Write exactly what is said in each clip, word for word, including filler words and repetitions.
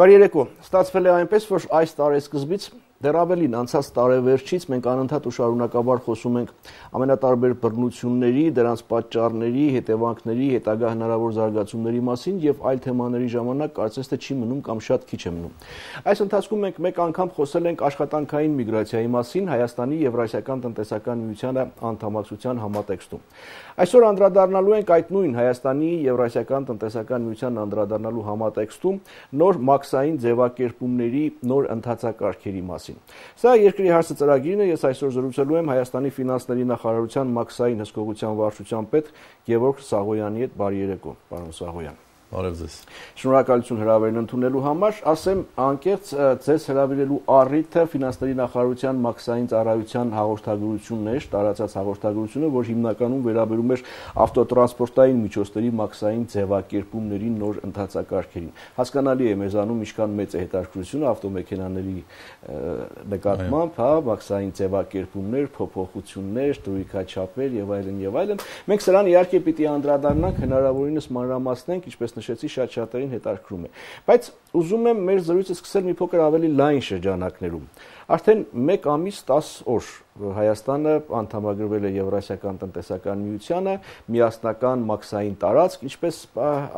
Բարի երեկո, ստացվել է այնպես, որ այս տարեսկզբից դեռ ավելին անցած տարեվերջից մենք անընդհատ ու շարունակաբար խոսում ենք ամենատարբեր բռնությունների, դրանց պատճառների, հետևանքների, հետագա հնարավոր զարգացումների մասին եւ այլ թեմաների ժամանակ կարծես թե չի մնում կամ շատ քիչ է մնում։ Այս ընթացքում մենք մեկ անգամ խոսել ենք աշխատանքային միգրացիայի մասին Հայաստանի Եվրասիական տնտեսական միությանը անդամակցության համատեքստում։ Այսօր անդրադառնալու ենք այդ նույն Հայաստանի Եվրասիական տնտեսական միությանը անդրադառնալու համատեքստում նոր մաքսային ձևակերպումների նոր ընթացակարգերի մասին։ Սա երկրի հարցը ծրագիրն է, ես այսօր զրուցելու եմ Հայաստանի ֆինանսների նախարարության մաքսային հսկողության վարչության պետ Գևորգ Սաղոյանի հետ։ Բարի երեկո, պարոն Սաղոյան։ Բարև ձեզ։ Շնորհակալություն հրավերն ընդունելու համար, ասեմ անկեղծ ձեզ հրավիրելու առիթը ֆինանսների նախարարության մաքսային ծառայության հաղորդագրությունն էր, տարածած հաղորդագրությունը, որ հիմնականում վերաբերում էր ավտոտրանսպորտային միջոցների մաքսային ձևակերպումների նոր ընթացակարգերին։ Հասկանալի է մեզանում ինչքան մեծ է հետաքրքրությունը ավտոմեքենաների նկատմամբ, հա, մաքսային ձևակերպումներ, փոփոխություններ, դրույքաչափեր եւ այլն եւ այլն։ Մենք սրան իհարկե պիտի անդրադառնանք, հնարավորինս մանրամասնենք, ինչպես նշեցի, շատ շատերին հետաքրքրում է։ Բայց ուզում եմ մեր զրույցը սկսել մի փոքր ավելի լայն շրջանակներում։ Արդեն մեկ ամիս տասը օր Հայաստանը անդամագրվել է Եվրասիական տնտեսական միությանը, միասնական մաքսային տարածք, ինչպես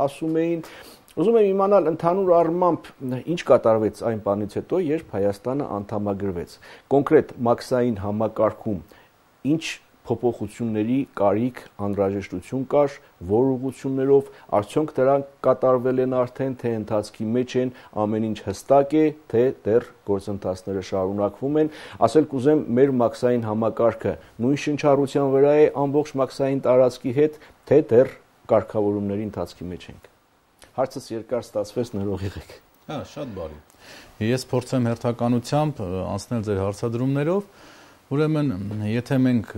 ասում էին։ Ուզում եմ իմանալ ընդհանուր առմամբ ինչ կատարվեց այն բանից հետո, երբ Հայաստանը անդամագրվեց։ Կոնկրետ մաքսային համակարգում ինչ փոփոխությունների կարիք, անհրաժեշտություն կար, որ ուղղություններով, արդյոնք դրանք կատարվել են արդեն, թե ընթացքի մեջ են, ամեն ինչ հստակ է, թե դեռ գործընթացները շարունակվում են։ Ասել կուզեմ, մեր մաքսային համակարգը նույն շնչառության վրա է ամբողջ մաքսային տարածքի հետ, թե դեռ կարգավորումների ընթացքի մեջ ենք։ Հարցս երկար ստացվեց, ներող եղեք։ Հա, շատ բարի։ Ես փորձեմ հերթականությամբ անցնել ձեր հարցադրումներով։ Ուրեմն, եթե մենք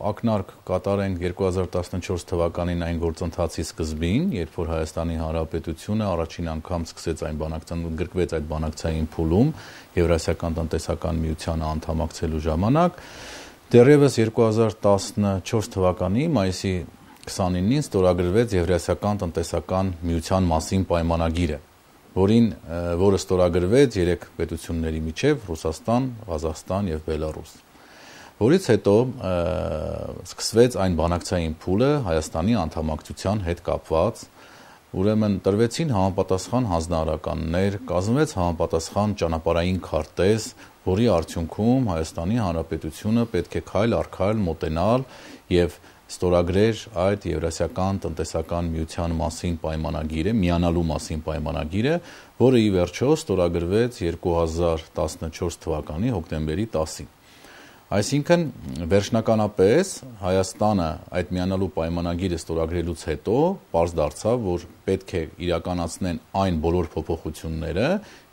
ակնարկ կատարենք երկու հազար տասնչորս թվականին այն գործընթացի սկզբին, երբ որ Հայաստանի Հանրապետությունը առաջին անգամ սկսեց այն բանակցային, ընդգրկվեց այդ բանակցային փուլում Եվրասիական տնտեսական միությանը անդամակցելու ժամանակ, դեռևս երկու հազար տասնչորս թվականի մայիսի քսանինին ստորագրվեց Եվրասիական տնտեսական միության մասին պայմանագիրը, որին որը ստորագրվեց երեք պետությունների միջև՝ Ռուսաստան, Ղազախստան եւ Բելարուս, որից հետո սկսվեց այն բանակցային փուլը Հայաստանի անդամակցության հետ կապված, ուրեմն տրվեցին համապատասխան հանձնարարականներ, կազմվեց համապատասխան ճանապարհային քարտեզ, որի արդյունքում Հայաստանի Հանրապետությունը պետք է քայլ առ քայլ մոտենալ եւ ստորագրեր այդ Եվրասիական տնտեսական միության մասին պայմանագիրը, միանալու մասին պայմանագիրը, որը ի վերջո ստորագրվեց երկու հազար տասնչորս թվականի հոկտեմբերի տասին։ Այսինքն վերջնականապես Հայաստանը այդ միանալու պայմանագիրը ստորագրելուց հետո պարզ դարձավ, որ պետք է իրականացնեն այն բոլոր փոփոխությունները,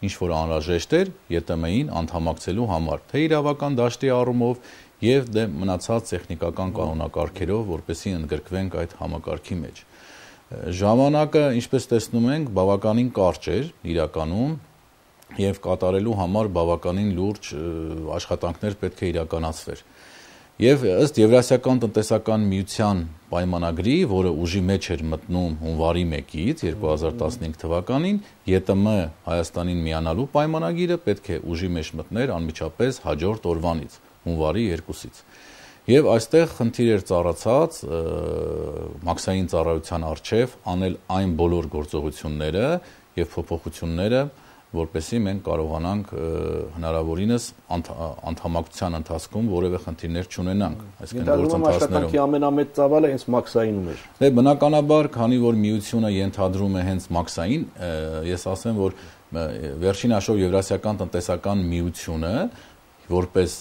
ինչ որ անհրաժեշտ էր Ե Տ Մ-ին անդամակցելու համար, թե իրավական դաշտի առումով եւ դե մնացած տեխնիկական կանոնակարգերով, որպեսզի ընդգրկվենք այդ համակարգի մեջ։ Ժամանակը, ինչպես տեսնում ենք, բավականին կարճ էր իրականում եւ կատարելու համար բավականին լուրջ աշխատանքներ պետք է իրականացվեր։ Եվ ըստ Եվրասիական տնտեսական միության պայմանագրի, որը ուժի մեջ էր մտնում հունվարի մեկից երկու հազար տասնհինգ թվականին, Ե Տ Մ Հայաստանին միանալու պայմանագիրը պետք է ուժի մեջ մտներ անմիջապես հաջորդ օրվանից, հունվարի երկուսից։ Եվ այստեղ խնդիր էր ծառացած մաքսային ծառայության առջև անել այն բոլոր գործողությունները եւ փոփոխությունները, որպեսզի մենք կարողանանք հնարավորինս անդամակցության ընթացքում որևէ խնդիրներ չունենանք, այսինքն գործընթացներում ամենամեծ ծավալը հենց մաքսայինում էր։ Դե բնականաբար, քանի որ միությունը ենթադրում է հենց մաքսային, ես ասեմ, որ վերջին հաշվով Եվրասիական տնտեսական միությունը որպես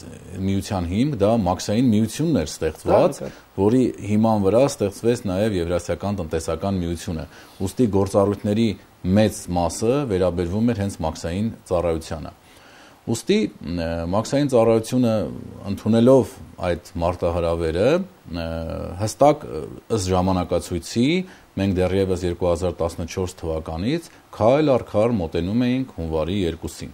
միության հիմք դա մաքսային միությունն էր ստեղծված, որի հիման վրա ստեղծվեց նաև Եվրասիական տնտեսական միությունը։ Ուստի գործառույթների մեծ մասը վերաբերվում էր հենց մաքսային ծառայությանը։ Ուստի մաքսային ծառայությունը ընդունելով այդ մարտահրավերը հստակ ըստ ժամանակացույցի մենք դեռևս երկու հազար տասնչորս թվականից քայլ առ քայլ մոտենում էինք հունվարի երկուսին։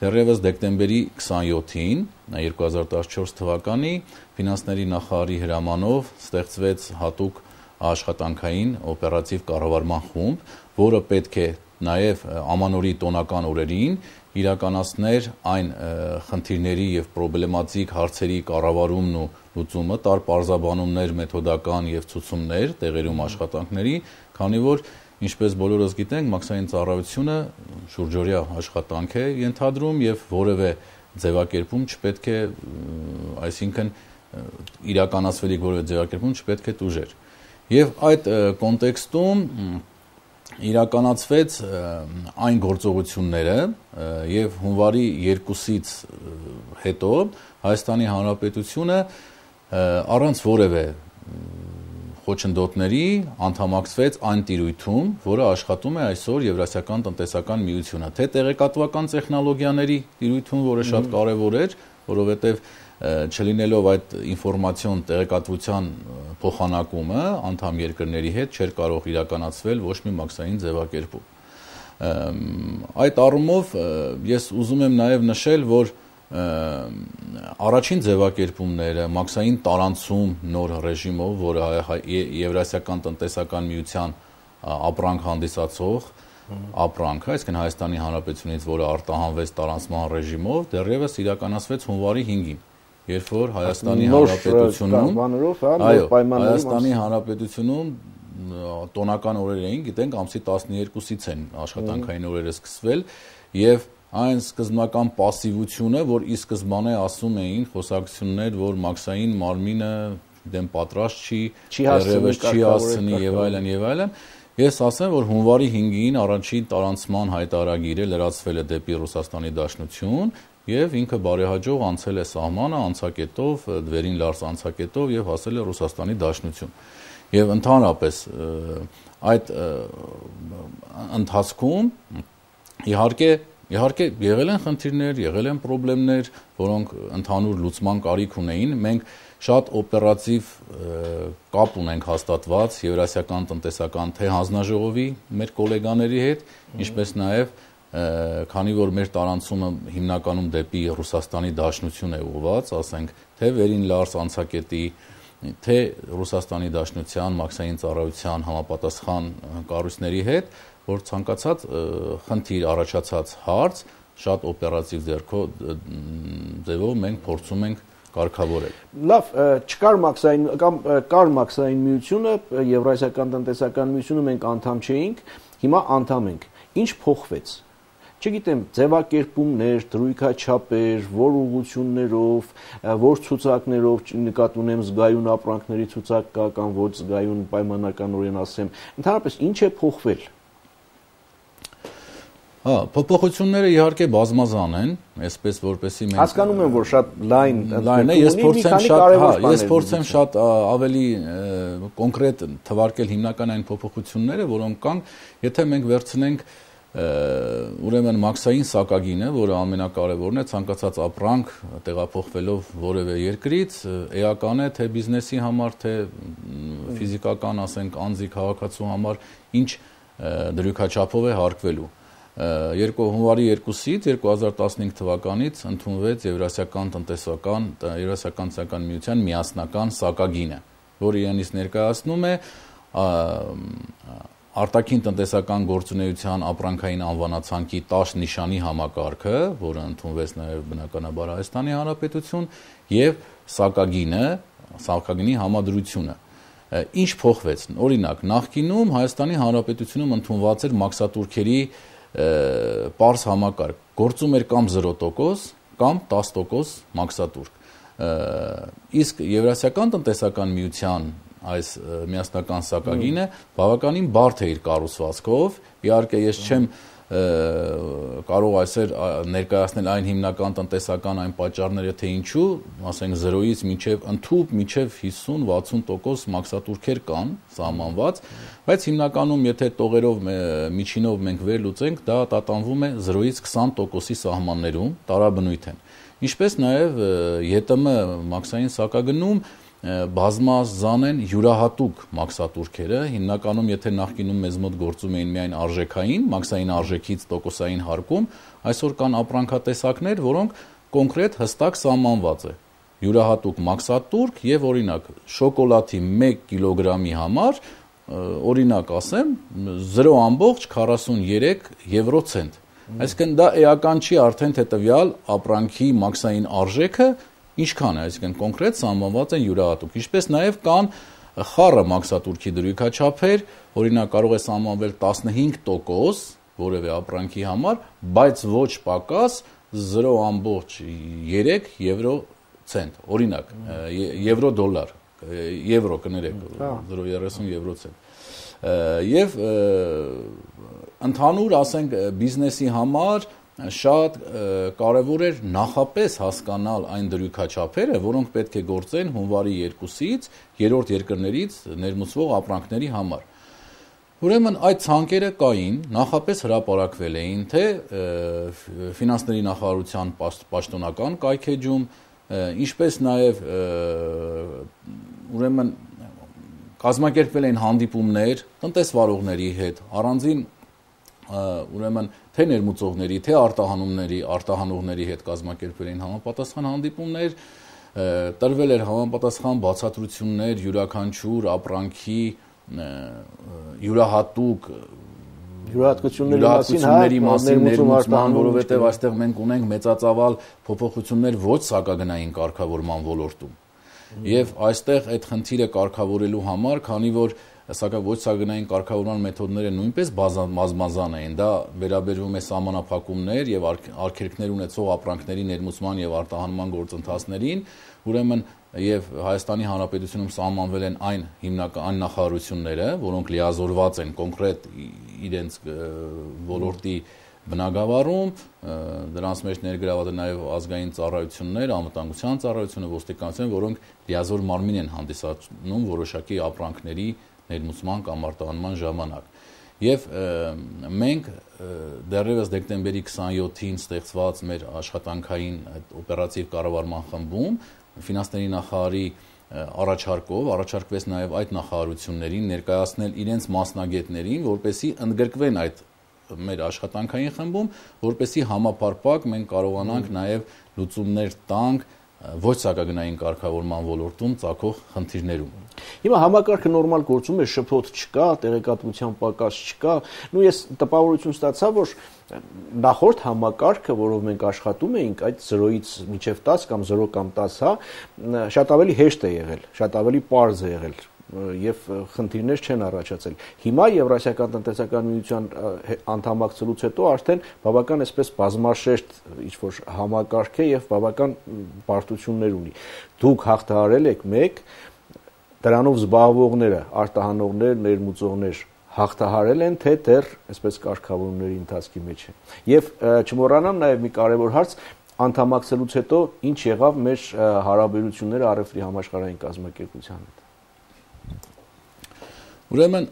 Դեռևս դեկտեմբերի քսանյոթին երկու հազար տասնչորս թվականի ֆինանսների նախարարի հրամանով ստեղծվեց հատուկ աշխատանքային օպերատիվ կառավարման խումբ, որը պետք է նաև ամանորի տոնական օրերին իրականացներ այն խնդիրների եւ պրոբլեմատիկ հարցերի կառավարումն ու լուծումը, տար պարզաբանումներ, մեթոդական եւ ցուցումներ տեղերում աշխատանքների, քանի որ ինչպես բոլորս գիտենք, մաքսային ծառայությունը շուրջօրյա աշխատանք է ենթադրում եւ որևէ ձևակերպում չպետք է, այսինքն իրականացվելիք որևէ ձևակերպում չպետք է տուժեր։ Եվ այդ կոնտեքստում իրականացվեց այն գործողությունները եւ հունվարի երկուսից հետո Հայաստանի Հանրապետությունը առանց որևէ խոչընդոտների անդամակցվեց այն տիրույթում, որը աշխատում է այսօր Եվրասիական տնտեսական միությունը, թե տեղեկատվական տեխնոլոգիաների տիրույթում, որը շատ կարևոր էր, որովհետեւ չլինելով այդ ինֆորմացիոն տեղեկատվության փոխանակումը անդամ երկրների հետ չէր կարող իրականացվել ոչ մի մաքսային ձևակերպում։ Այդ առումով ես ուզում եմ նաև նշել, որ առաջին ձևակերպումները մաքսային տարանցում նոր ռեժիմով, որը Եվրասիական տնտեսական միության ապրանք հանդիսացող ապրանքը, այսինքն Հայաստանի Հանրապետությունից, որը արտահանվեց տարանցման ռեժիմով, դեռևս իրականացվեց հունվարի հինգին, երբ որ Հայաստանի Հանրապետությունում, այո, Հայաստանի Հանրապետությունում տոնական օրեր էին, գիտենք, ամսի տասներկուսից են աշխատանքային օրերը սկսվել եւ այն սկզբնական պասիվությունը, որ ի սկզբանե ասում էին խոսակցություններ, որ մաքսային մարմինը դեմ պատրաստ չի, դեռևս չի հասցնի եւ այլն եւ այլն, ես ասեմ, որ հունվարի հինգին առաջին տարանցման հայտարարագիրը լրացվել է դեպի Ռուսաստանի Դաշնություն եւ ինքը բարեհաջող անցել է սահմանը անցակետով, դվերին լարս անցակետով եւ հասել է Ռուսաստանի Դաշնություն։ Եվ ընդհանրապես այդ ընթացքում իհարկե Իհարկե եղել են խնդիրներ, եղել են խնդիրներ, որոնք ընդհանուր լուծման կարիք ունեին։ Մենք շատ օպերատիվ կապ ունենք հաստատված Եվրասիական տնտեսական թե հանձնաժողովի մեր գոլեգաների հետ, ինչպես նաև քանի որ մեր տարանցումը հիմնականում դեպի Ռուսաստանի Դաշնություն է ուղղված, ասենք, թե վերին լարս անցակետի, թե Ռուսաստանի Դաշնության մաքսային ծառայության համապատասխան կառույցների հետ, որ ցանկացած խնդիր առաջացած հարց շատ օպերատիվ ձևով մենք փորձում ենք կարգավորել։ Լավ, չկար մաքսային կամ կար մաքսային միությունը, Եվրասիական տնտեսական միությունը մենք անդամ չէինք, հիմա անդամ ենք։ Ինչ փոխվեց։ Չգիտեմ, ձևակերպումներ, դրույքաչափեր, որ ուղղություններով, որ ցուցակներով նկատի ունեմ զգայուն ապրանքների ցուցակ կա կամ ոչ զգայուն պայմանականորեն ասեմ։ Ընդհանրապես ինչ է փոխվել։ Հա, փոփոխությունները իհարկե բազմազան են, այսպես որպեսի մենք հասկանում եմ, որ շատ լայն լայն է, ես փորձեմ շատ, հա, ես փորձեմ շատ ավելի կոնկրետ թվարկել հիմնական այն փոփոխությունները, որոնք կան, եթե մենք վերցնենք ուրեմն մաքսային սակագինը, որը ամենակարևորն է, ցանկացած ապրանք տեղափոխվելով որևէ երկրից, էական է թե բիզնեսի համար, թե ֆիզիկական, ասենք, անձի քաղաքացու համար, ինչ դրույքաչափով է հարկվելու։ Հունվարի երկուսից երկու հազար տասնհինգ թվականից ընդունվեց Եվրասիական տնտեսական Եվրասիական տնտեսական միության միասնական սակագինը, որը իրենից ներկայացնում է արտաքին տնտեսական գործունեության ապրանքային անվանացանքի տասը նիշանի համակարգը, որը ընդունվեց նաև բնականաբար Հայաստանի Հանրապետություն, եւ սակագինը, սակագինի համադրությունը։ Ինչ փոխվեց։ Օրինակ, նախկինում Հայաստանի Հանրապետությունում ընդունված էր մաքսատուրքերի պարզ համակարգ, գործում էր կամ զրո տոկոս կամ տասը տոկոս մաքսատուրք։ Իսկ Եվրասիական տնտեսական միության այս միասնական սակագինը բավականին բարդ է իր կառուցվածքով, իհարկե ես չեմ կարող այսօր ներկայացնել այն հիմնական տնտեսական այն պատճառները, թե ինչու, ասենք զրոյից մինչև ընդհուպ մինչև հիսուն-վաթսուն տոկոս մաքսատուրքեր կան սահմանված, բայց հիմնականում եթե տողերով միջինով մենք վերլուծենք, դա տատանվում է զրոյից քսան տոկոսի սահմաններում, տարաբնույթ են։ Ինչպես նաև ԵՏՄ մաքսային սակագնում բազմազան են յուրահատուկ մաքսատուրքերը, հիմնականում եթե նախկինում մեզ մոտ գործում էին միայն արժեքային, մաքսային արժեքից տոկոսային հարկում, այսօր կան ապրանքատեսակներ, որոնք կոնկրետ հստակ սահմանված է։ Յուրահատուկ մաքսատուրք եւ օրինակ շոկոլադի մեկ կիլոգրամի համար օրինակ ասեմ, զրո ամբողջ քառասուններեք եվրոցենտ։ Այսինքն դա էական չի արդեն թե տվյալ ապրանքի մաքսային արժեքը ինչքան է, այսինքն կոնկրետ սահմանված են յուրահատուկ։ Ինչպես նաև կան խառը մաքսատուրքի դրույքաչափեր, օրինակ կարող է սահմանվել տասնհինգ տոկոս որևէ ապրանքի համար, բայց ոչ պակաս զրո ամբողջ երեք եվրոցենտ, օրինակ, եվրո դոլար, եվրո կներեք, զրո երեսուն եվրոցենտ։ Եվ ընդհանուր, ասենք, բիզնեսի համար շատ կարևոր էր նախապես հասկանալ այն դրույքաչափերը, որոնք պետք է գործեն հունվարի երկուսից երրորդ երկրներից ներմուծվող ապրանքների համար։ Ուրեմն այդ ցանկերը կային, նախապես հրապարակվել էին թե ֆինանսների նախարարության պաշտոնական կայքեջում, ինչպես նաև ուրեմն կազմակերպվել էին հանդիպումներ տնտեսվարողների հետ, առանձին ուրեմն թե ներմուծողների, թե արտահանումների, արտահանողների հետ կազմակերպվել էին համապատասխան հանդիպումներ, տրվել էր համապատասխան բացատրություններ յուրաքանչյուր ապրանքի յուրահատուկ յուրահատկությունների մասին ներմուծման, որովհետև այստեղ մենք ունենք մեծածավալ փոփոխություններ ոչ սակագնային կարգավորման ոլորտում։ Եվ այստեղ այդ խնդիրը կարգավորելու համար, քանի որ սակայն ոչ սակագնային կարգավորման մեթոդները նույնպես բազմազան են, դա վերաբերվում է սահմանափակումներ եւ արգելքներ ունեցող ապրանքների ներմուծման եւ արտահանման գործընթացներին, ուրեմն եւ Հայաստանի Հանրապետությունում սահմանվել են այն հիմնական այն նախարարությունները, որոնք լիազորված են կոնկրետ իրենց ոլորտի բնագավառում, դրանց մեջ ներգրաված են նաև ազգային ծառայություններ, անվտանգության ծառայությունը, ոստիկանությունը, որոնք լիազոր մարմին են հանդիսանում որոշակի ապրանքների ներմուծման կամ արտահանման ժամանակ։ Եվ մենք դեռևս դեկտեմբերի քսանյոթին ստեղծված մեր աշխատանքային օպերատիվ կառավարման խմբում ֆինանսների նախարարի առաջարկով առաջարկվեց նաև այդ նախարարություններին ներկայացնել իրենց մասնագետներին, որպեսզի ընդգրկվեն այդ մեր աշխատանքային խմբում, որպեսզի համապարփակ մենք կարողանանք նաև լուծումներ տանք ոչ սակագնային կարգավորման ոլորտում ծագող խնդիրներում։ Հիմա համակարգը նորմալ գործում է, շփոթ չկա, տեղեկատվության պակաս չկա։ Նու ես տպավորություն ստացա, որ նախորդ համակարգը, որով մենք աշխատում էինք, այդ զրոից մինչև տաս կամ զրո կամ տաս, հա, շատ ավելի հեշտ է եղել, շատ ավելի պարզ է եղել եւ խնդիրներ չեն առաջացել։ Հիմա Եվրասիական տնտեսական միության անդամակցելուց հետո արդեն բավական այսպես բազմաշերտ ինչ-որ համակարգ է եւ բավական բարդություններ ունի։ Դուք հաղթահարել եք մեկ, դրանով զբաղվողները, արտահանողներ, ներմուծողներ հաղթահարել են, թե դեռ այսպես կարգավորումների ընթացքի մեջ են։ Եվ չմոռանամ նաեւ մի կարեւոր հարց, անդամակցելուց հետո ինչ եղավ մեր հարաբերությունները Արևտրի համաշխարհային կազմակերպության հետ։ Ուրեմն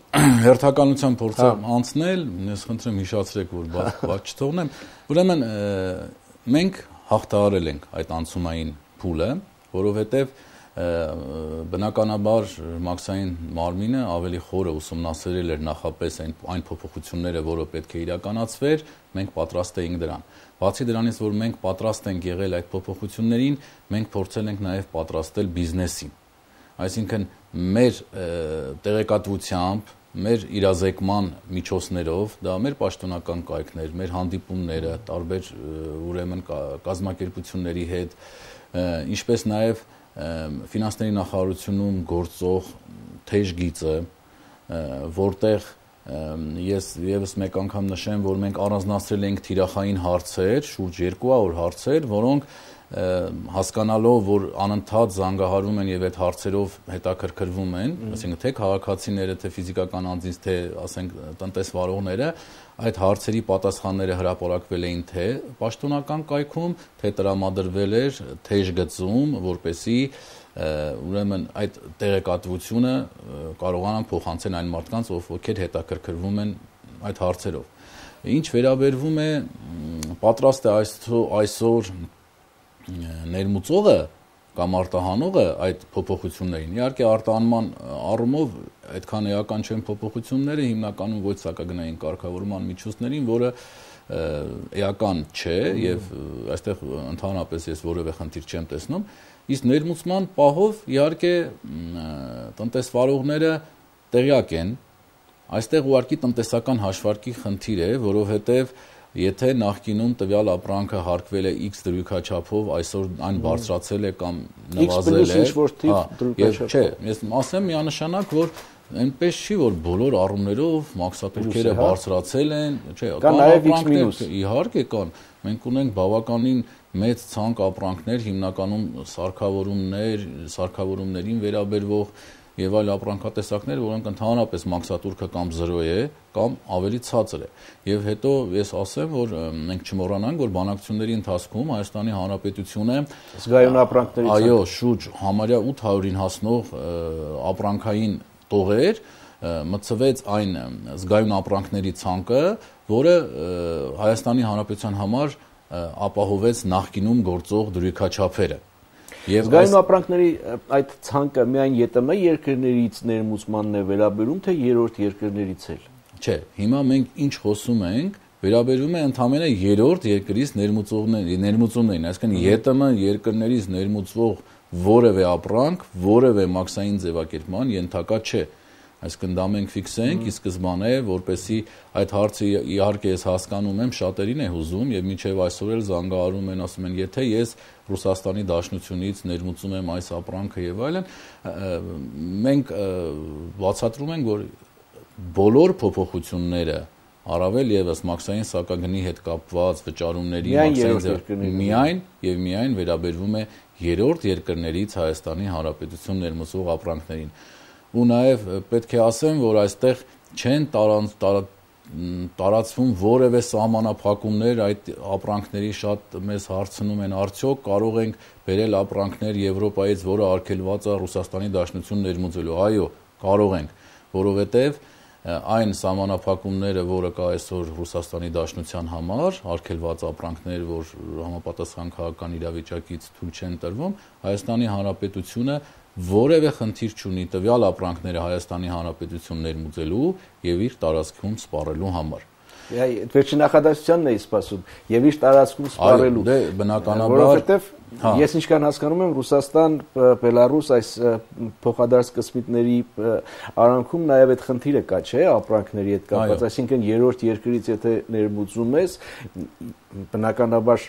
հերթականության փորձեմ անցնել, ես խնդրեմ հիշացրեք, որ բաց չթողնեմ։ Ուրեմն մենք հաղթահարել ենք այդ անցումային փուլը, որովհետև բնականաբար մաքսային մարմինը ավելի խորը ուսումնասիրել էր նախապես այն, այն փոփոխությունները, որը պետք է իրականացվեր, մենք պատրաստ էինք դրան։ Բացի դրանից, որ մենք պատրաստ ենք եղել այդ փոփոխություններին, մենք փորձել ենք նաև պատրաստել բիզնեսին։ Այսինքն մեր տեղեկատվությամբ, մեր իրազեկման միջոցներով, դա մեր պաշտոնական կայքներ, մեր հանդիպումները, տարբեր ուրեմն կազմակերպությունների հետ, ինչպես նաև ֆինանսների նախարարությունում գործող թեժ գիծը, որտեղ ես եւս մեկ անգամ նշեմ, որ մենք առանձնացրել ենք թիրախային հարցեր, շուրջ երկու հարյուր հարցեր, որոնք հասկանալով, որ անընդհատ զանգահարվում են եւ այդ հարցերով հետաքրքրվում են, այսինքն թե քաղաքացիները, թե ֆիզիկական անձինք, թե ասենք տնտեսվարողները, այդ հարցերի պատասխանները հրապարակվել էին թե պաշտոնական կայքում, թե տրամադրվել էր թեժ գծում, որպեսզի ուրեմն այդ տեղեկատվությունը կարողանան փոխանցել այն մարդկանց, ովքեր հետաքրքրվում են այդ հարցերով։ Ինչ վերաբերվում է պատրաստ է այսօր ներմուծողը կամ արտահանողը այդ փոփոխություններին։ Իհարկե արտահանման առումով այդքան էական չեն փոփոխությունները, հիմնականում ոչ սակագնային կարգավորման միջոցներին, որը էական չէ եւ այստեղ ընդհանրապես ես որևէ խնդիր չեմ տեսնում, իսկ ներմուծման պահով իհարկե տնտեսվարողները տեղյակ են, այստեղ ուղղակի տնտեսական հաշվարկի խնդիր է, որովհետև եթե նախկինում տվյալ ապրանքը հարկվել է X դրույքաչափով, այսօր այն բարձրացել է կամ նվազել է, եւ չէ, ես ասեմ միանշանակ, որ այնպես չի, որ բոլոր առումներով մաքսատուրքերը բարձրացել են, չէ, կան նաև X մինուս, իհարկե կան, մենք ունենք բավականին մեծ ցանկ ապրանքներ, հիմնականում սարքավորումներ, սարքավորումներին վերաբերվող եւ այլ ապրանքատեսակներ, որոնք ընդհանրապես մաքսատուրքը կամ զրո է, կամ ավելի ցածր է։ Եվ հետո ես ասեմ, որ մենք չմոռանանք, որ բանակցությունների ընթացքում Հայաստանի Հանրապետությունը զգայուն ապրանքների ցանկ, այո, շուրջ համարյա ութ հարյուրին հասնող ապրանքային տողեր մտցվեց այն զգայուն ապրանքների ցանկը, որը Հայաստանի Հանրապետության համար ապահովեց նախկինում գործող դրույքաչափերը։ Զգայուն ապրանքների այդ ցանկը միայն ԵՏՄ երկրներից ներմուծմանն է վերաբերում, թե երրորդ երկրներից էլ։ Չէ, հիմա մենք ինչ խոսում ենք, վերաբերում է ընդամենը երրորդ երկրից ներմուծումներին, այսինքն ԵՏՄ երկրներից ներմուծվող որևէ ապրանք, որևէ մաքսային ձևակերպման ենթակա չէ։ Այսինքն դա մենք ֆիքսենք, ի սկզբանե, որպեսզի այդ հարցը իհարկե ես հասկանում եմ, շատերին է հուզում եւ մինչեւ այսօր էլ զանգահարում են, ասում են, եթե ես Ռուսաստանի Դաշնությունից ներմուծում եմ այս ապրանքը եւ այլն, մենք բացատրում ենք, որ բոլոր փոփոխությունները առավել եւս մաքսային սակագնի հետ կապված վճարումների մաքսային միայն եւ միայն վերաբերվում է երրորդ երկրներից Հայաստանի Հանրապետություն ներմուծող ապրանքներին։ Ու նաև պետք է ասեմ, որ այստեղ չեն տարածվում որևէ սահմանափակումներ այդ ապրանքների շատ մեզ հարցնում են արդյոք կարող ենք բերել ապրանքներ Եվրոպայից, որը արգելված է Ռուսաստանի Դաշնություն ներմուծելու։ Այո, կարող ենք, որովհետև այն սահմանափակումները, որը կա այսօր Ռուսաստանի Դաշնության համար, արգելված ապրանքներ, որ համապատասխան քաղաքական իրավիճակից թույլ չեն տրվում, Հայաստանի Հանրապետությունը որևէ խնդիր չունի տվյալ ապրանքները Հայաստանի Հանրապետություն ներմուծելու եւ իր տարածքում սպառելու համար։ Վերջին նախադասությանն էի սպասում եւ իր տարածքում սպառելու։ Դե բնականաբար, որովհետեւ ես ինչքան հասկանում եմ, Ռուսաստան, Բելարուս այս փոխադարձ կսմիտների արանքում նաեւ այդ խնդիրը կա, չէ՞, ապրանքների հետ կապված, այսինքն երրորդ երկրից եթե ներմուծում ես, բնականաբար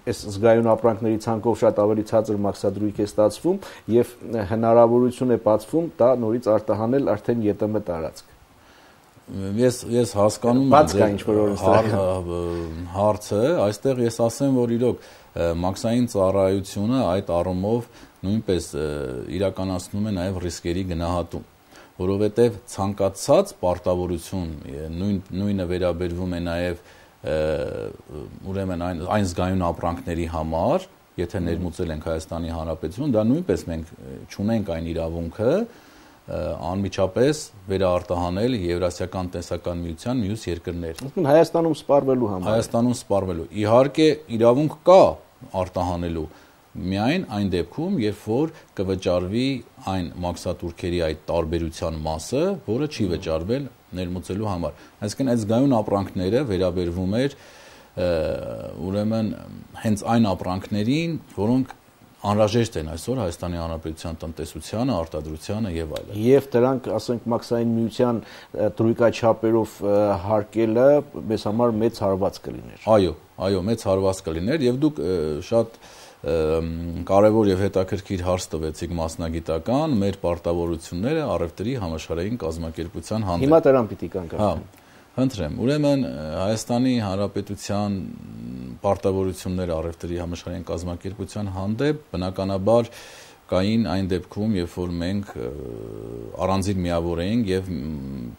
այս զգայուն ապրանքների ցանկով շատ ավելի ցածր մաքսադրույք է ստացվում եւ հնարավորություն է բացվում դա նորից արտահանել արդեն ԵՏՄ տարածք։ Ես ես հասկանում եմ բաց կա ինչ-որ օրենսդրական հարցը, այստեղ ես ասեմ, որ իրոք մաքսային ծառայությունը այդ առումով նույնպես իրականացնում է նաեւ ռիսկերի գնահատում, որովհետեւ ցանկացած պարտավորություն նույն նույնը վերաբերվում է նաեւ ուրեմն այն այն զգայուն ապրանքների համար, եթե ներմուծել ենք Հայաստանի Հանրապետություն, դա նույնպես մենք չունենք այն իրավունքը անմիջապես վերարտահանել Եվրասիական տնտեսական միության մյուս երկրներ։ Ուրեմն Հայաստանում սպառվելու համար։ Հայաստանում սպառվելու։ Իհարկե իրավունք կա արտահանելու միայն այն դեպքում, երբ որ կվճարվի այն մաքսատուրքերի այդ տարբերության մասը, որը չի վճարվել ներմուծելու համար։ Այսինքն այդ զգայուն ապրանքները վերաբերվում էր ուրեմն հենց այն ապրանքներին, որոնք անհրաժեշտ են այսօր Հայաստանի Հանրապետության տնտեսությանը, արտադրությանը եւ այլն։ Եվ դրանք, ասենք, մաքսային միության դրույքաչափերով հարկելը մեզ համար մեծ հարված կլիներ։ Այո, այո, մեծ հարված կլիներ եւ դուք շատ կարևոր եւ հետաքրքիր հարց տվեցիք մասնագիտական մեր պարտավորությունները առևտրի համաշխարհային կազմակերպության հանդեպ։ Հիմա դրան պիտի կանք։ Հա, խնդրեմ։ Ուրեմն Հայաստանի Հանրապետության պարտավորությունները առևտրի համաշխարհային կազմակերպության հանդեպ բնականաբար կային այն դեպքում, երբ որ մենք առանձին միավոր էինք եւ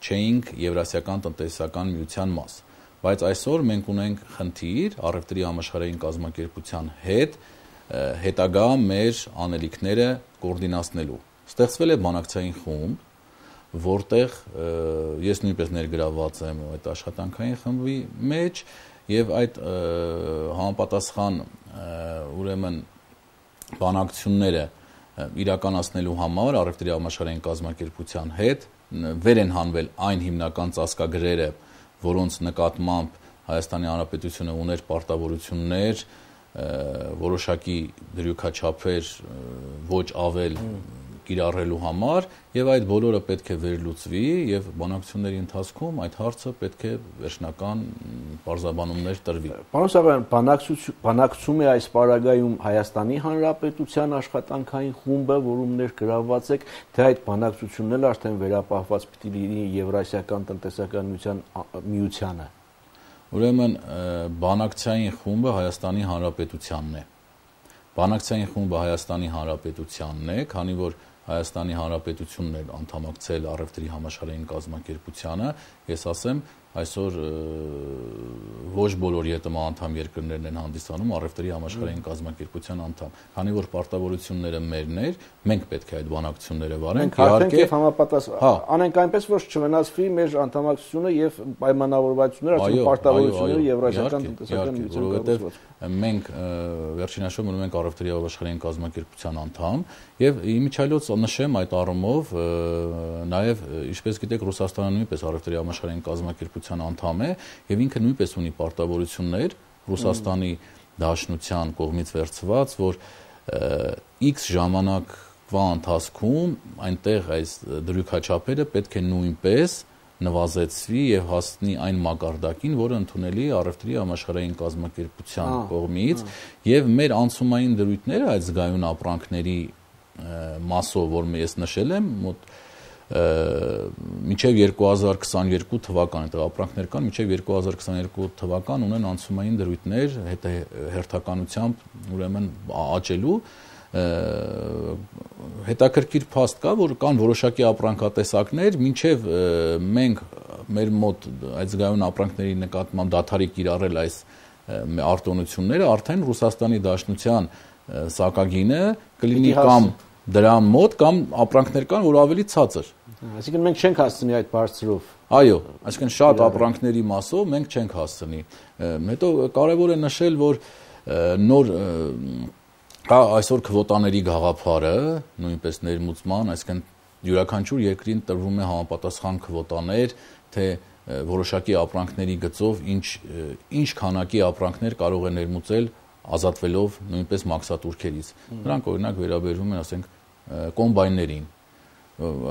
չէինք Եվրասիական տնտեսական միության մաս։ Բայց այսօր մենք ունենք խնդիր առևտրի համաշխարհային կազմակերպության հետ հետագա մեր անելիքները կոորդինացնելու։ Ստեղծվել է բանակցային խումբ, որտեղ ես նույնպես ներգրավված եմ այդ աշխատանքային խմբի մեջ եւ այդ համապատասխան ուրեմն բանակցությունները իրականացնելու համար առևտրի համաշխարհային կազմակերպության հետ վեր են հանվել այն հիմնական ծածկագրերը, որոնց նկատմամբ Հայաստանի Հանրապետությունը ուներ պարտավորություններ, որոշակի դրույքաչափեր ոչ ավել կիրառելու համար եւ այդ բոլորը պետք է վերլուծվի եւ բանակցությունների ընթացքում այդ հարցը պետք է վերջնական բարձաբանումներ տրվի։ Պարոն Սարոյան, բանակցում է այս պարագայում Հայաստանի Հանրապետության աշխատանքային խումբը, որում ներգրավված եք, թե այդ բանակցությունն էլ արդեն վերապահված պիտի լինի Եվրասիական տնտեսական միությանը։ Ուրեմն բանակցային խումբը Հայաստանի Հանրապետությանն է։ Բանակցային խումբը Հայաստանի Հանրապետությանն է, քանի որ Հայաստանի Հանրապետությունն է անդամակցել առևտրի համաշխարհային կազմակերպությանը, ես ասեմ, այսօր ոչ բոլոր ԵՏՄ անդամ երկրներն են հանդիսանում առևտրի համաշխարհային կազմակերպության անդամ, քանի որ պարտավորությունները մերն էր, մենք պետք է այդ բանակցությունները վարենք, իհարկե համապատասխան անենք այնպես, որ չվնասվի մեր անդամակցությունը եւ պայմանավորվածությունները, այսինքն պարտավորությունները Եվրասիական տնտեսական միության կողմից, մենք վերջին հաշվով մնում ենք առևտրի համաշխարհային կազմակերպության անդամ եւ իմիջիայլոց նշեմ այդ առումով նաեւ ինչպես գիտեք Ռուսաստանը նույնպես առևտրի համաշխարհային կազմակերպության անդամ է եւ ինքը նույնպես ունի պարտավորություններ Ռուսաստանի Դաշնության կողմից վերցված, որ X ժամանակվա ընթացքում այնտեղ այս դրույքաչափերը պետք է նույնպես նվազեցվի եւ հասնի այն մակարդակին, որը ընդունելի է առևտրի համաշխարհային կազմակերպության կողմից եւ մեր անցումային դրույթները այդ զգայուն ապրանքների մասով, որ ես նշել եմ, մոտ մինչև երկու հազար քսաներկու թվական, այդ ապրանքներ կան, մինչև երկու հազար քսաներկու թվական ունեն անցումային դրույթներ հերթականությամբ ուրեմն աճելու հետաքրքիր փաստ կա, որ կան որոշակի ապրանքատեսակներ, մինչև մենք մեր մոտ այդ զգայուն ապրանքների նկատմամբ դադարի կիրառել այս արտոնությունները, արդեն Ռուսաստանի Դաշնության սակագինը կլինի կամ դրան մոտ կամ ապրանքներ կան, որ ավելի ցածր։ Այսինքն մենք չենք հասցնի այդ բարձրով։ Այո, այսինքն շատ ապրանքների մասով մենք չենք հասցնի։ Հետո կարևոր է նշել, որ նոր կա այսօր քվոտաների գաղափարը, նույնպես ներմուծման, այսինքն յուրաքանչյուր երկրին տրվում է համապատասխան քվոտաներ, թե որոշակի ապրանքների գծով ինչ ինչ քանակի ապրանքներ կարող է ներմուծել ազատվելով նույնպես մաքսատուրքերից։ Նրանք օրինակ վերաբերվում են, ասենք, կոմբայններին։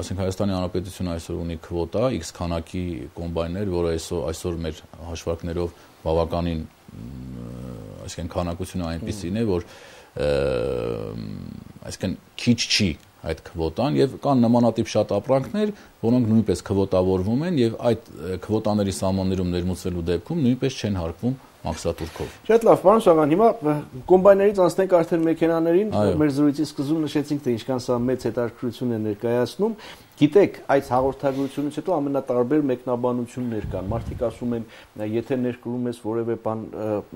Ասենք Հայաստանի Հանրապետությունը այսօր ունի քվոտա X քանակի կոմբայներ, որը այսօր այսօր մեր հաշվարկներով բավականին, այսինքն քանակությունը այնպիսին է, որ այսինքն քիչ չի այդ քվոտան եւ կան նմանատիպ շատ ապրանքներ, որոնք նույնպես քվոտավորվում են եւ այդ քվոտաների սահմաններում ներմուծվելու դեպքում նույնպես չեն հարկվում մաքսատուրքով։ Շատ լավ, պարոն Սաղան, հիմա կոմբայներից անցնենք արդեն մեքենաներին, մեր զրույցի սկզբում նշեցինք, թե ինչքան սա մեծ հետաքրքրություն է ներկայացնում։ Գիտեք, այս հաղորդագրությունից հետո ամենատարբեր մեկնաբանություններ կան։ Մարդիկ ասում են, եթե ներկրում ես որևէ բան,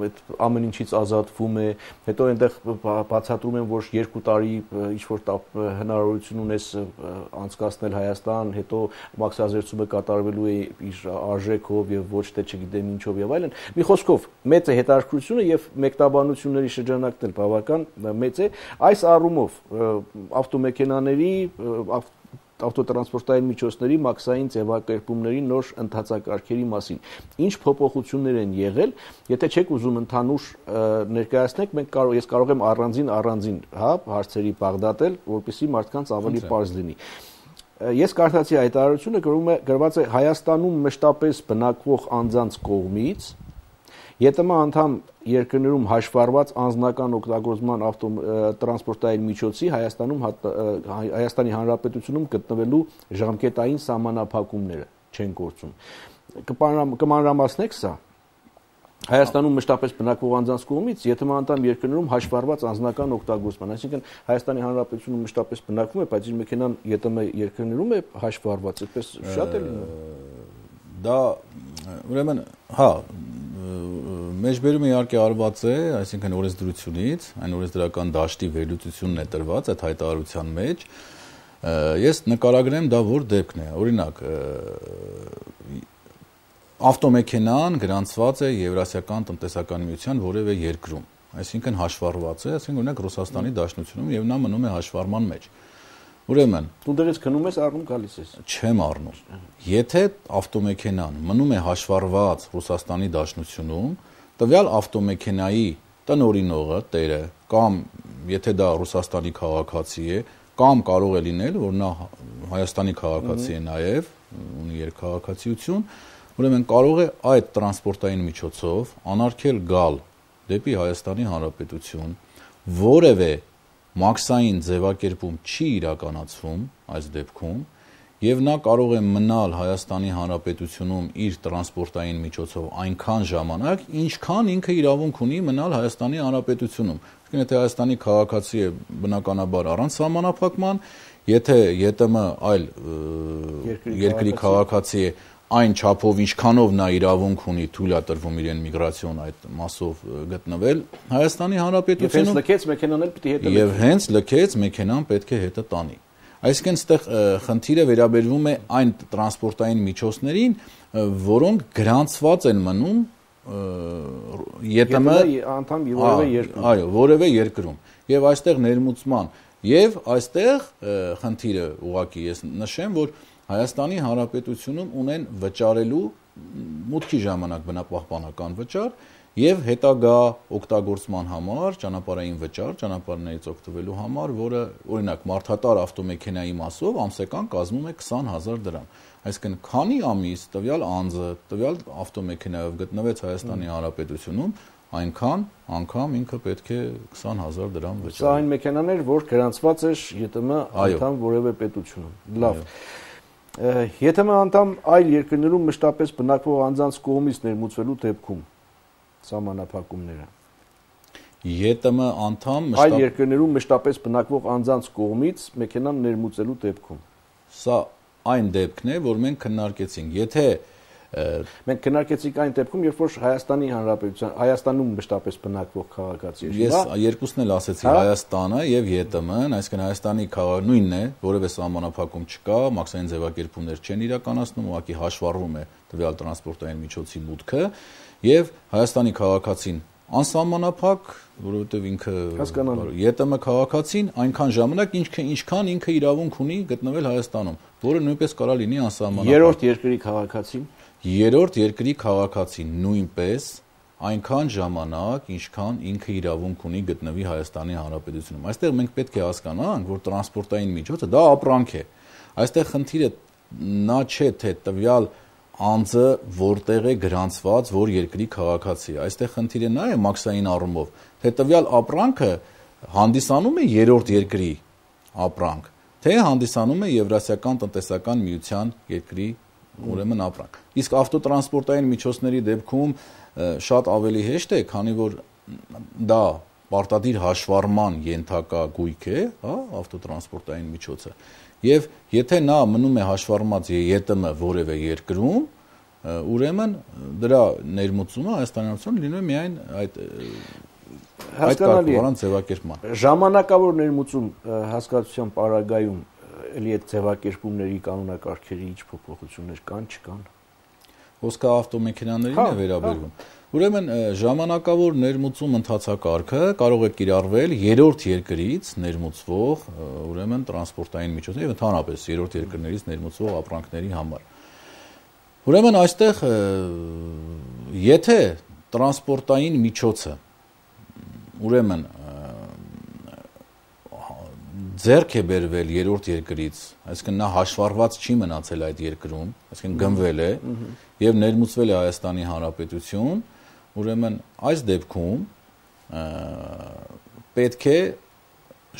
այդ ամեն ինչից ազատվում է, հետո այնտեղ բացատրում են, որ երկու տարի ինչ-որ հնարավորություն ունես անցկացնել Հայաստան, հետո մաքսազերծումը կատարվելու է իր արժեքով եւ ոչ թե չգիտեմ ինչով եւ այլն։ Մի խոսքով, մեծ է հետաքրքրությունը եւ մեկնաբանությունների շրջանակն էլ բավական մեծ է։ Այս առումով ավտոմեքենաների ավտոտրանսպորտային միջոցների մաքսային ձևակերպումների նոր ընթացակարգերի մասին։ Ինչ փոփոխություններ են եղել, եթե չեք ուզում ընդհանուր ներկայացնեք, մենք կարող ես կարող եմ առանձին առանձին, հա, հարցերի բաղդատել, որպեսզի մարդկանց ավելի պարզ լինի։ Ես կարդացի հայտարարությունը, գրում է գրված է Հայաստանում մշտապես բնակվող անձանց կողմից ԵՏՄ անդամ երկրներում հաշվառված անձնական օգտագործման ավտոտրանսպորտային միջոցի Հայաստանում Հայաստանի Հանրապետությունում գտնվելու ժամկետային սահմանափակումները չեն գործում։ Կմանրամասնեք սա։ Հայաստանում մշտապես բնակվող անձանց կողմից ԵՏՄ անդամ երկրներում հաշվառված անձնական օգտագործման, այսինքն Հայաստանի Հանրապետությունում մշտապես բնակվում է, բայց իր մեքենան ԵՏՄ երկրներում է հաշվառված, այդպես շատ է լինում։ Դա ուրեմն, հա, մեջբերումը իհարկե արված է, այսինքն օրենսդրությունից, այն օրենսդրական դաշտի վերլուծությունն է տրված այդ հայտարարության մեջ։ Ես նկարագրեմ դա որ դեպքն է։ Օրինակ, ավտոմեքենան գրանցված է Եվրասիական տնտեսական միության որևէ երկրում, այսինքն հաշվառված է, այսինքն օրինակ Ռուսաստանի Դաշնությունում եւ նա մնում է հաշվառման մեջ։ Ուրեմն, դուք քնում ես առնում գալիս ես։ Չեմ առնում։ Եթե ավտոմեքենան մնում է հաշվառված Ռուսաստանի Դաշնությունում, տվյալ ավտոմեքենայի տնօրինողը, տերը, կամ եթե դա Ռուսաստանի քաղաքացի է, կամ կարող է լինել, որ նա Հայաստանի քաղաքացի է նաև, ունի երկքաղաքացիություն, ուրեմն կարող է այդ տրանսպորտային միջոցով անարգել գալ դեպի Հայաստանի Հանրապետություն, որևէ մաքսային ձևակերպում չի իրականացվում այս դեպքում, եւ նա կարող է մնալ Հայաստանի Հանրապետությունում իր տրանսպորտային միջոցով այնքան ժամանակ, ինչքան ինքը իրավունք ունի մնալ Հայաստանի Հանրապետությունում։ Իսկ եթե Հայաստանի քաղաքացի է բնականաբար առանց սահմանափակման, եթե ԵՏՄ այլ երկրի քաղաքացի է, այն չափով ինչքանով նա իրավունք ունի թույլ է տրվում իրեն միգրացիոն այդ մասով գտնվել Հայաստանի Հանրապետությունում, եւ հենց լքեց մեքենան պետք է հետը տանի։ Այսինքն այստեղ խնդիրը վերաբերվում է այն տրանսպորտային միջոցներին, որոնք գրանցված են մնում ԵՏՄ անդամ որևէ երկրում։ Այո, որևէ երկրում։ Եվ այստեղ ներմուծման եւ այստեղ խնդիրը ուղղակի ես նշեմ, որ Հայաստանի Հանրապետությունում ունեն վճարելու մուտքի ժամանակ բնապահպանական վճար եւ հետագա օգտագործման համար ճանապարհային վճար, ճանապարհներից օգտվելու համար, որը օրինակ մարդատար ավտոմեքենայի մասով ամսական կազմում է քսան հազար դրամ։ Այսինքն քանի ամիս տվյալ անձը տվյալ ավտոմեքենայով գտնվեց Հայաստանի Հանրապետությունում, այնքան անգամ ինքը պետք է քսան հազար դրամ վճարի։ Սա այն մեքենան էր, որ գրանցված էր ԵՏՄ անդամ որևէ պետությունում։ Լավ։ ԵՏՄ անդամ այլ երկրներում մշտապես բնակվող անձանց կողմից ներմուծվելու դեպքում սահմանափակումները։ ԵՏՄ անդամ այլ երկրներում մշտապես բնակվող անձանց կողմից մեքենան ներմուծելու դեպքում։ Սա այն դեպքն է, որ մենք քննարկեցինք։ Եթե մենք քննարկեցինք այն դեպքում, երբ որ Հայաստանի Հանրապետության Հայաստանում մշտապես բնակվող քաղաքացի է։ Ես երկուսն էլ ասեցի, Հայաստանը եւ ԵՏՄ-ն, այսինքն Հայաստանի քաղաքը նույնն է, որևէ սահմանափակում չկա, մաքսային ձևակերպումներ չեն իրականացնում, ուղղակի հաշվառվում է տվյալ տրանսպորտային միջոցի մուտքը եւ Հայաստանի քաղաքացին անսահմանափակ, որովհետեւ ինքը ԵՏՄ քաղաքացին այնքան ժամանակ ինչքան ինքը իրավունք ունի գտնվել Հայաստանում, որը նույնպես կարա լինի անսահմանափակ։ Երրորդ երկրի քաղաքացին Երրորդ երկրի քաղաքացին նույնպես այնքան ժամանակ, ինչքան ինքը իրավունք ունի գտնվի Հայաստանի Հանրապետությունում։ Այստեղ մենք պետք է հասկանանք, որ տրանսպորտային միջոցը դա ապրանք է։ Այստեղ խնդիրը նա չէ, թե տվյալ անձը որտեղ է գրանցված, որ երկրի քաղաքացի է։ Այստեղ խնդիրը նա է մաքսային առումով, թե տվյալ ապրանքը հանդիսանում է երրորդ երկրի ապրանք, թե հանդիսանում է Եվրասիական տնտեսական միության երկրի ուրեմն ապրանք։ Իսկ ավտոտրանսպորտային միջոցների դեպքում շատ ավելի հեշտ է, քանի որ դա պարտադիր հաշվառման ենթակա գույք է, հա, ավտոտրանսպորտային միջոցը։ Եվ եթե նա մնում է հաշվառված ԵՏՄ որևէ երկրում, ուրեմն դրա ներմուծումը Հայաստանյանություն լինում է միայն այդ այդ կարգավորան ձևակերպման։ Ժամանակավոր ներմուծում հասկացության պարագայում էլի այդ ձևակերպումների կանոնակարգերի ինչ փոփոխություններ կան, չկան։ Խոսքը ավտոմեքենաներին է վերաբերվում։ Ուրեմն ժամանակավոր ներմուծում ընթացակարգը կարող է կիրառվել երրորդ երկրից ներմուծվող, ուրեմն տրանսպորտային միջոցներ եւ ընդհանրապես երրորդ երկրներից ներմուծվող ապրանքների համար։ Ուրեմն այստեղ եթե տրանսպորտային միջոցը ուրեմն ձեռք է բերվել երրորդ երկրից, այսինքն նա հաշվառված չի մնացել այդ երկրում, այսինքն գնվել է եւ ներմուծվել է Հայաստանի Հանրապետություն, ուրեմն այս դեպքում պետք է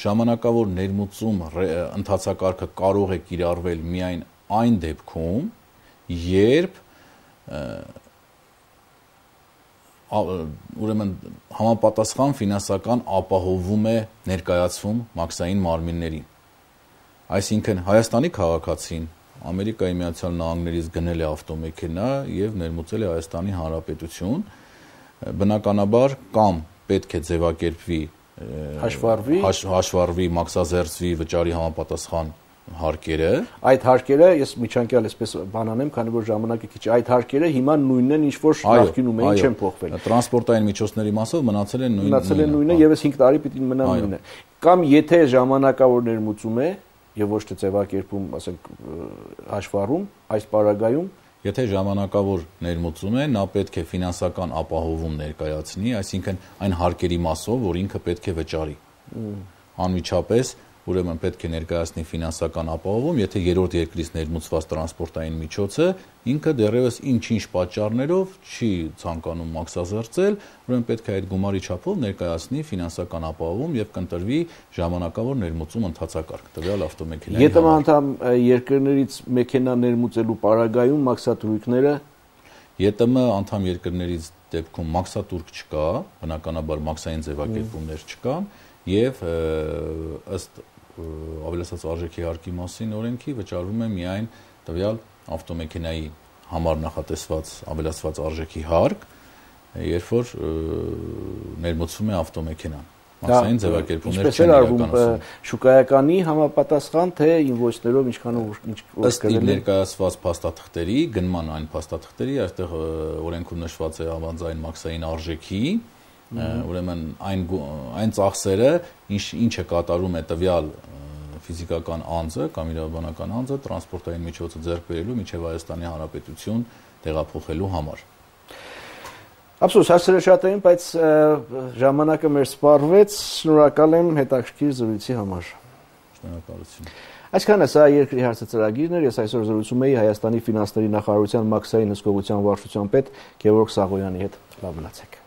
ժամանակավոր ներմուծում ընթացակարգը կարող է կիրառվել միայն այն դեպքում, երբ ուրեմն համապատասխան ֆինանսական ապահովում է ներկայացվում մաքսային մարմիններին։ Այսինքն Հայաստանի քաղաքացին Ամերիկայի Միացյալ Նահանգներից գնել է ավտոմեքենա եւ ներմուծել է Հայաստանի Հանրապետություն, բնականաբար կամ պետք է ձևակերպվի հաշվառվի հաշվառվի մաքսազերծվի վճարի համապատասխան հարկերը։ Այդ հարկերը ես միջանկյալ այսպես բանանեմ, քանի որ ժամանակը քիչ, այդ հարկերը հիմա նույնն են, ինչ որ նախկինում էին, չեն փոխվել։ Տրանսպորտային միջոցների մասով մնացել են նույնը։ Մնացել են նույնը եւ այս հինգ տարի պիտի մնա նույնը։ Կամ եթե ժամանակավոր ներմուծում է եւ ոչ թե ձևակերպում, ասենք հաշվառում, այս պարագայում եթե ժամանակավոր ներմուծում է, նա պետք է ֆինանսական ապահովում ներկայացնի, այսինքն այն հարկերի մասով, որ ինքը պետք է վճարի։ Անմիջապես ուրեմն պետք է ներկայացնի ֆինանսական ապահովում, եթե երրորդ երկրից ներմուծված տրանսպորտային միջոցը ինքը դեռևս ինչ-ինչ պատճառներով չի ցանկանում մաքսազերծել, ուրեմն պետք է այդ գումարի չափով ներկայացնի ֆինանսական ապահովում եւ կընտրվի ժամանակավոր ներմուծում ընթացակարգ տվյալ ավտոմեքենայի համար։ Եթե անդամ երկրներից մեքենա ներմուծելու պարագայում մաքսատուրքները ԵՏՄ անդամ երկրներից դեպքում մաքսատուրք չկա, բնականաբար մաքսային ձևակերպումներ չկան եւ ըստ ավելացած արժեքի հարկի մասին օրենքի վճարվում է միայն տվյալ ավտոմեքենայի համար նախատեսված ավելացված արժեքի հարկ, երբ որ ներմուծվում է ավտոմեքենան։ Մաքսային ձևակերպումներ չեն իրականացվում։ Շուկայականի համապատասխան թե ինվոյսներով ինչքանով ինչ ըստ ներկայացված փաստաթղթերի, գնման այն փաստաթղթերի, այստեղ օրենքում նշված է ավանձային մաքսային արժեքի, ուրեմն այն այն ծախսերը, ինչ ինչը կատարում է տվյալ ֆիզիկական անձը կամ իրավաբանական անձը տրանսպորտային միջոցը ձեռք բերելու միջև Հայաստանի Հանրապետություն տեղափոխելու համար։ Ափսոս, հարցերը շատ էին, բայց ժամանակը մեր սպառվեց, շնորհակալ եմ հետաքրքիր զրույցի համար։ Շնորհակալություն։ Այսքանը սա երկրի հարցը ծրագիրն էր, ես այսօր զրուցում էի Հայաստանի ֆինանսների նախարարության մաքսային հսկողության վարչության պետ Գևորգ Սաղոյանի հետ։ Լավ մնացեք։